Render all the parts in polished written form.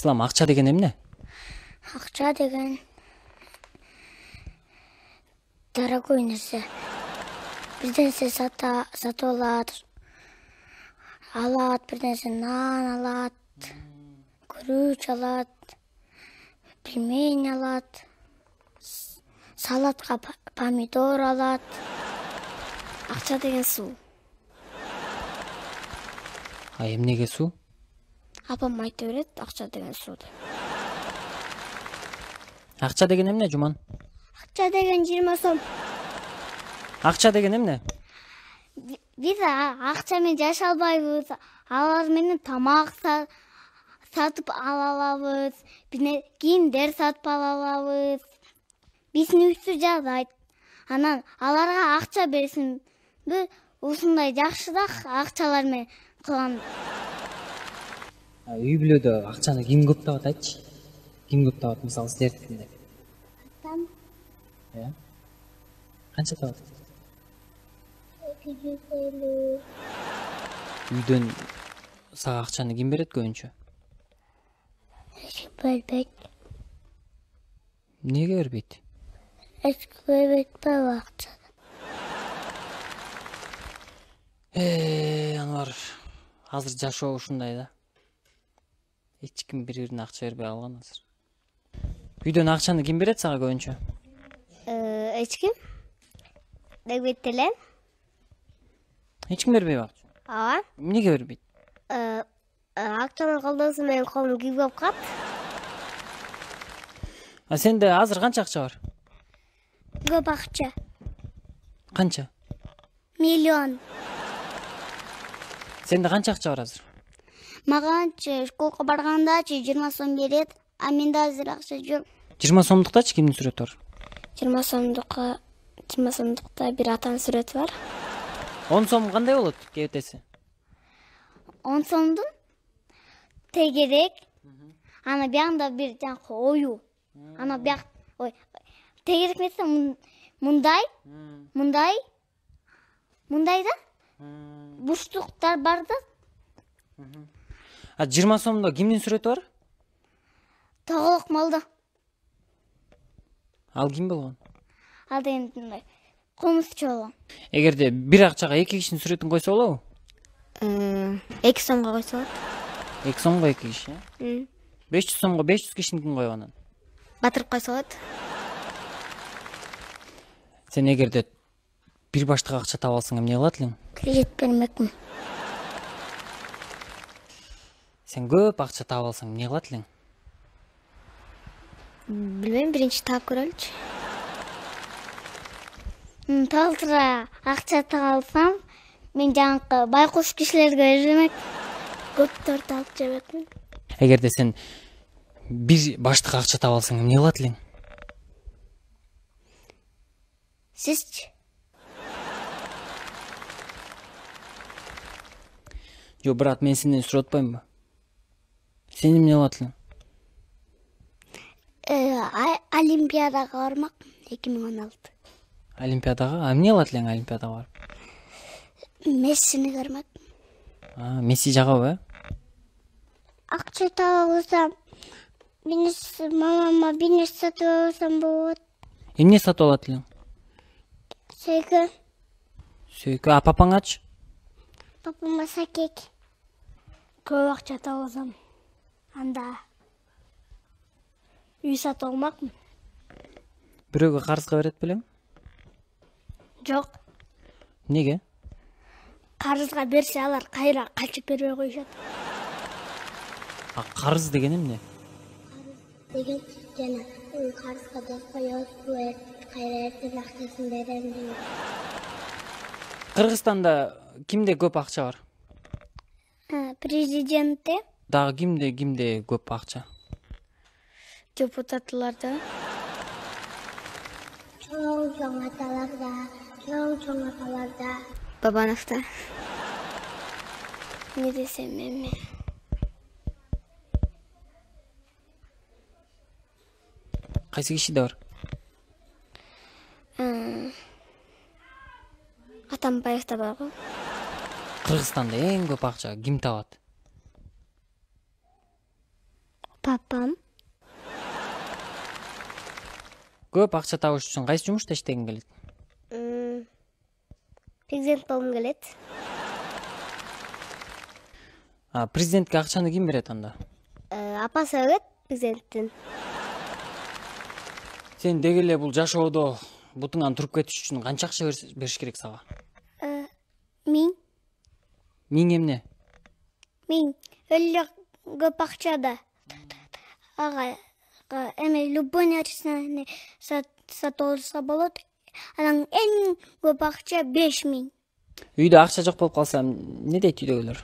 Ислам, акча деген эмне? Акча деген дорогой нерсе. Бир нерсе сатып алат, бир нерсе нан алат, күрүч алат, пельмень алат, салатка помидор алат. Акча деген суу. А эмнеге суу? Апам айта берет, акча деген суу деп. Акча деген эмне, Жуман? Акча деген 20 сом. Акча деген эмне? Биз акча менен жашай албайбыз. Алар менен тамак сатып ала алабыз. Кийимдер сатып ала алабыз. Биздин үйсү жаадайт. Анан аларга акча берсинби, ушундай жакшыраак акчалар менен кылам. Үй бүлөдө акчаны ким көп табат, айтчы? Ким көп табат, мисалы силердикинде? Атам Канча табат? 250. Үйдөн сага акчаны ким берет көбүнчө? Эч бербейт. Эмнеге бербейт? Эч бербейт акча. Анвар, азыр жашоо ушундай да. Эч ким бири-бирине акча бербей калган азыр. Үйдөн акчаны ким берет сага көбүнчө? Эч ким бербейт эле. Эч ким бербейби акча? Ооба. Эмнеге бербейт? Акчанын колдоосу менен колум күйбөп калат. А сенде азыр канча акча бар? Көп акча. Канча? Миллион. Сенде канча акча бар азыр? Маганчы школго баргандачы 20 сом берет, а менде азыр акча жок. 20 сомдуктачы кимдин сүрөтү бар? 20 сомдукта бир атанын сүрөтү бар. 10 сом кандай болот кебетеси? 10 сомдун тегерек, ана биягында бир жанакы ою. Ана бияк, тегерек эмес, мындай да бурчтуктар бар да. А 20 сомдо кимдин сүрөтү бар? Тоголок малда. Ал ким болгон? Ал деген комузчу болгон. Эгерде бир акчага эки кишинин сүрөтүн койсо болобу? 2 сомго койсо болот. 2 сомго 2 киши, 500 сомго 500 кишиникин коюп анан. Батырып койсо болот. Сен эгерде бир баштык акча таап алсаң эмне кылат элең? Кредит бермекмин. Сен көп акча таап алсаң эмне кылат элең? Билбейм, биринчи таап көрөлүчү. Толтура акча таап алсам, мен жанакы байкуш кишилерге бермек. Көптөр таап жебекмин. Эгерде сен бир баштык акча таап алсаң эмне кылат элең? Сизчи? Жок, брат, мен сенден сурап атпаймынбы? Сен эмне кылат элең? Олимпиадага бармак 2016. Олимпиадага? А эмне кылат элең Олимпиадага барып? Мессини көрмөк. Месси жагабы, Акча таап алсам, мамама бир нерсе сатып алсам болот. Эмне сатып алат элең? Сөйкө. Сөйкө. А папаңачы? Папама сакек. Көп акча таап алсам, анда үй сатып алмакмын. Бирөөгө карызга берет белең? Жок. Эмнеге? Карызга берсе алар кайра качып бербей коюшат. А карыз деген эмне? Деген жана карызга деп коёбуз, кайра эртең акчасын берем деген. Кыргызстанда кимде көп акча бар? Президентте. Дагы кимде көп акча? Депутатларда. Чоң аталарда. Бабановда. Не десем эми? Кайсы кишиде бар? Атамбаевда барбы? Кыргызстанда эң көп акча ким табат? Папам. Көп акча табыш үчүн кайсы жумушта иштегиң келет? Президент болгум келет. Президентке акчаны ким берет анда? Апасы берет президенттин. Сен деги эле бул жашоодо бутуңан туруп кетиш үчүн канча акча бериш керек сага? 1000. 1000 эмне? 1000. Эле көп акча да. Ага, эме любой нерсени сатып алса болот. Анан эң көп акча 5000. Үйдө акча жок болуп калса эмне дейт үйдөгүлөр?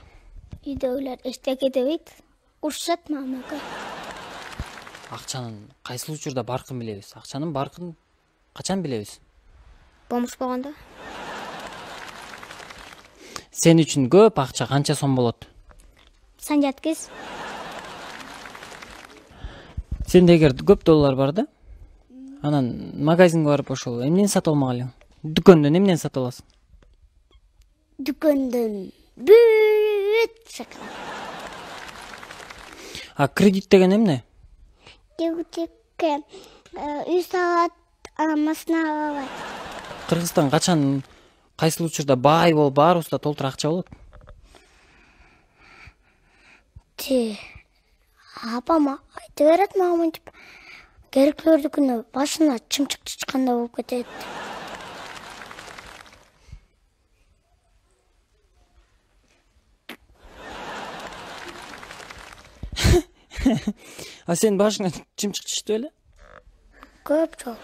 Үйдөгүлөр эчтеке дебейт. Урушат мамака. Акчанын кайсыл учурда баркын билебиз? Акчанын баркын качан билебиз? Бомуш болгондо. Сен үчүн көп акча канча сом болот? Сан жаткыз. Сенде эгер көп доллар бар да, анан магазинге барып ошол эмнени сатып алмак элең? Дүкөндөн эмнени сатып аласың? Дүкөндөн бүт шоколад. Кредит деген эмне? Кредитке үй салат, машина алат. Кыргызстан качан кайсыл учурда бай болуп баарыбызда толтур акча болот? Апам айтып берет мага мынтип. Керектүүлөрдүкүнө башына чымчык чычканда болуп кетет. Сен башыңа чымчык чычты беле? Көп жол.